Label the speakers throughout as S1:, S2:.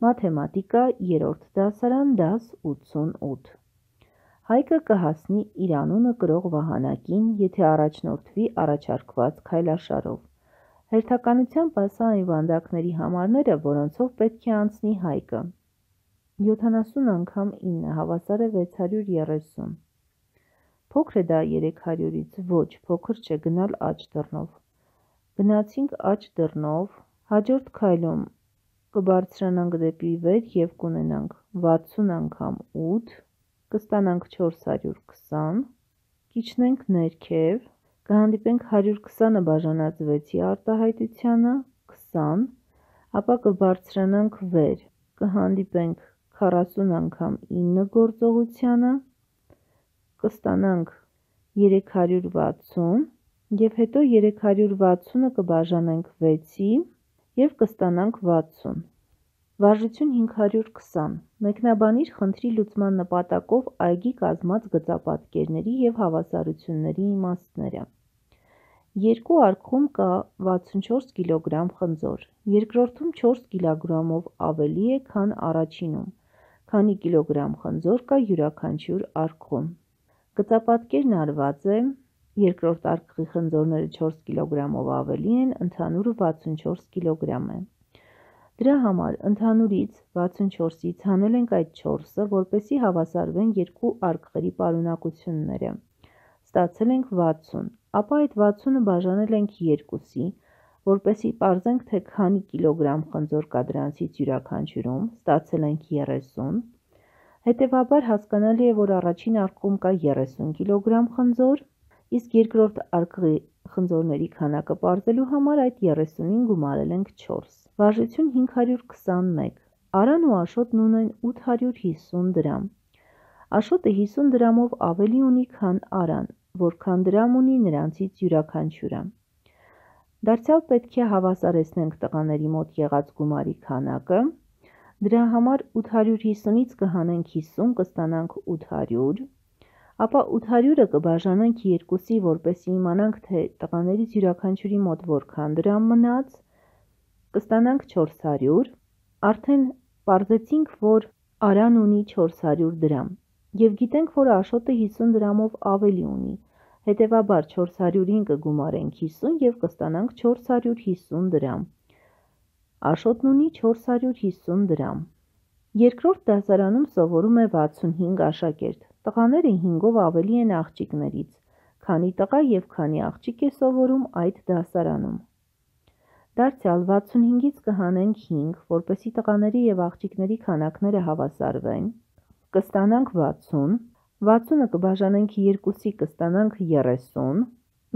S1: Մաթեմատիկա 3-րդ դասարան դաս 88 Հայկը կհասնի իր անունը կրող վահանակին, եթե առաջնորդվի առաջարկված քայլաշարով։ Հերթականությամբ ասա այն վանդակների համարները, որոնցով պետք է անցնի Հայկը։ 70 անգամ 9 հավասար է 630։ Փոքր է դա 300-ից, ոչ, փոքր չէ, գնալ աջ դռնով։ Գնացինք աջ դռնով, հաջորդ քայլում կբարձրանանք դեպի վեր և կունենանք 60 անգամ 8, կստանանք 420, կիջնենք ներքև, կհանդիպենք 120-ը բաժանած 6-ի արտահայտությանը, 20, ապա կբարձրանանք վեր, կհանդիպենք 40 անգամ 9 գործողությանը, կստանանք 360 և հետո 360-ը կբաժանենք 6-ի և կստանանք 60։ Վարժություն 520։ Մեկնաբանիր խնդրի լուծման նպատակով այգի կազմած գծապատկերների և հավասարությունների իմաստները։ Երկու արկղում կա 64 կգ խնձոր, երկրորդում 4 կգ-ով ավելի է, քան առաջինում, քանի կիլոգրամ խնձոր կա յուրաքանչյուր արկղում։ Գծապատկերն արված է, երկրորդ արկղի խնձորները 4 կգ-ով ավելի են, ընդհանուրը 64 կգ է։ Դրա համար ընդհանուրից 64-ից հանել ենք այդ 4-ը, որպեսզի հավասարվեն երկու արկղերի պարունակությունները։ Ստացել ենք 60, ապա այդ 60-ը բաժանել ենք 2-ի, որպեսզի պարզենք, թե քանի կիլոգրամ խնձոր կա դրանցից յուրաքանչյուրում, ստացել ենք 30, հետևաբար հասկանալի է, որ առաջին արկղում կա 30 կգ խնձոր, իսկ երկրորդ արկղի խնձորների քանակը պարզելու համար այդ 30-ին գումարել ենք 4։ Վարժություն 521։ Արան ու Աշոտն ունեն 850 դրամ։ Աշոտը 50 դրամով ավելի ունի, քան Արան, որքան դրամ ունի նրանցից յուրաքանչյուրը։ Դարձյալ պետք է հավասարեցնենք տղաների մոտ եղած գումարի քանակը։ Դրա համար 850-ից կհանենք 50, կստանանք 800, ապա 800-ը կբաժանենք 2-ի, որպեսզի իմանանք, թե տղաներից յուրաքանչյուրի մոտ որքան դրամ մնաց, կստանանք 400, արդեն պարզեցինք, որ Արան ունի 400 դրամ, և գիտենք, որ Աշոտը 50 դրամով ավելի ունի, հետևաբար 400-ին կգումարենք 50 և կստանանք 450 դրամ։ Աշոտն ունի 450 դրամ։ Երկրորդ դասարանում սովորում է 65 աշակերտ, տղաները 5-ով ավելի են աղջիկներից, քանի տղա և քանի աղջիկ է սովորում այդ դասարանում։ Դարձյալ 65-ից կհանենք 5, որպեսզի տղաների և աղջիկների քանակները հավասարվեն, կստանանք 60, 60-ը կբաժանենք 2-ի, կստանանք 30,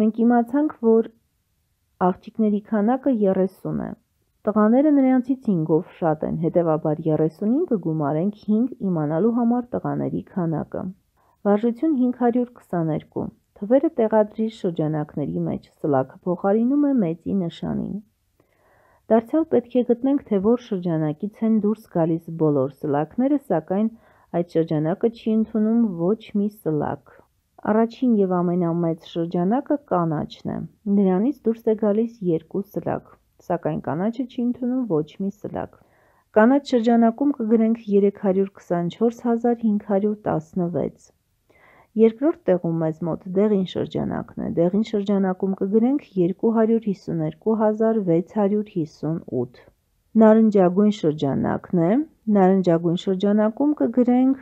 S1: մենք իմացանք, որ աղջիկների քանակը 30 է, տղաները նրանցից 5-ով շատ են, հետևաբար 30-ին կգումարենք 5 իմանալու համար տղաների քանակը։ Վարժություն 522։ Թվերը տեղադրիր շրջանակների մեջ, սլաքը փոխարինում է մեծի նշանին։ Դարձյալ պետք է գտնենք, թե որ շրջանակից են դուրս գալիս բոլոր սլաքները, սակայն այդ շրջանակը չի ընդունում ոչ մի սլաք։ Առաջին և ամենամեծ շրջանակը կանաչն է, նրանից դուրս է գալիս 2 սլաք, սակայն կանաչը չի ընդունում ոչ մի սլաք։ Կանաչ շրջանակում կգրենք 324516։ Երկրորդ տեղում մեզ մոտ դեղին շրջանակն է, դեղին շրջանակում կգրենք 252658։ Նարնջագույն շրջանակն է, նարնջագույն շրջանակում կգրենք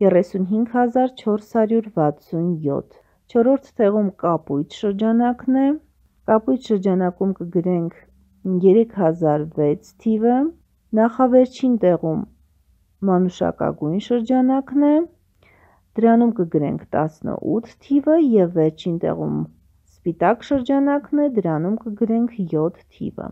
S1: 35467։ Չորրորդ տեղում կապույտ շրջանակն է, կապույտ շրջանակում կգրենք 3006 թիվը, նախավերջին տեղում մանուշակագույն շրջանակն է, դրանում կգրենք 18 թիվը և վերջին տեղում սպիտակ շրջանակն է, դրանում կգրենք 7 թիվը։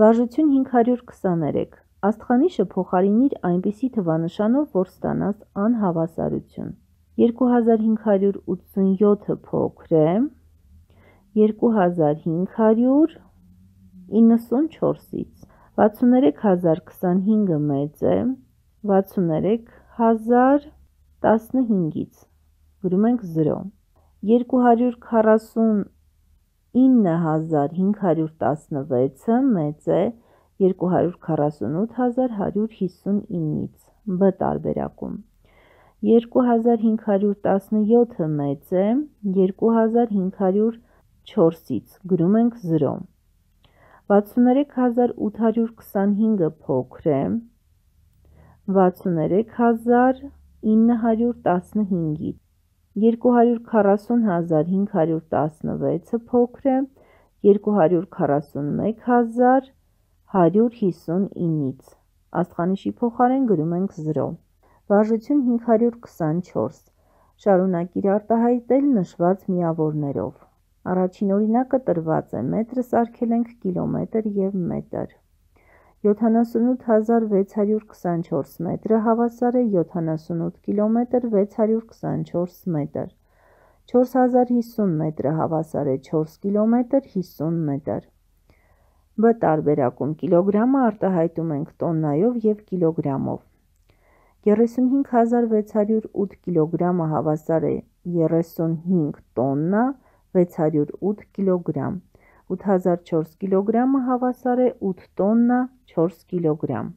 S1: Վարժություն 523։ Աստղանիշը փոխարինիր այնպիսի թվանշանով, որ ստանաս անհավասարություն։ 2587-ը փոքր է, 2594-ից, 63025-ը մեծ է, 63015-ից, գրում ենք 0, 249516-ը մեծ է, 248159-ից, B տարբերակում, 2517-ը մեծ է 2504-ից, գրում ենք 0, 63825-ը փոքր է 63915-ից, 240516-ը փոքր է 241159-ից, աստղանիշի փոխարեն գրում ենք 0, վարժություն 524, շարունակիր արտահայտել նշված միավորներով, առաջին օրինակը տրված է, մետրը սարքել ենք կիլոմետր և մետր, 78624 մետրը հավասար է 78 կիլոմետր 624 մետր, 4050 մետրը հավասար է 4 կիլոմետր 50 մետր, B տարբերակում կիլոգրամը արտահայտում ենք տոննայով և կիլոգրամով, 35608 կիլոգրամը հավասար է 35 տոննա 608 կիլոգրամ, 8004 կիլոգրամը հավասար է 8 տոննա 4 կիլոգրամ։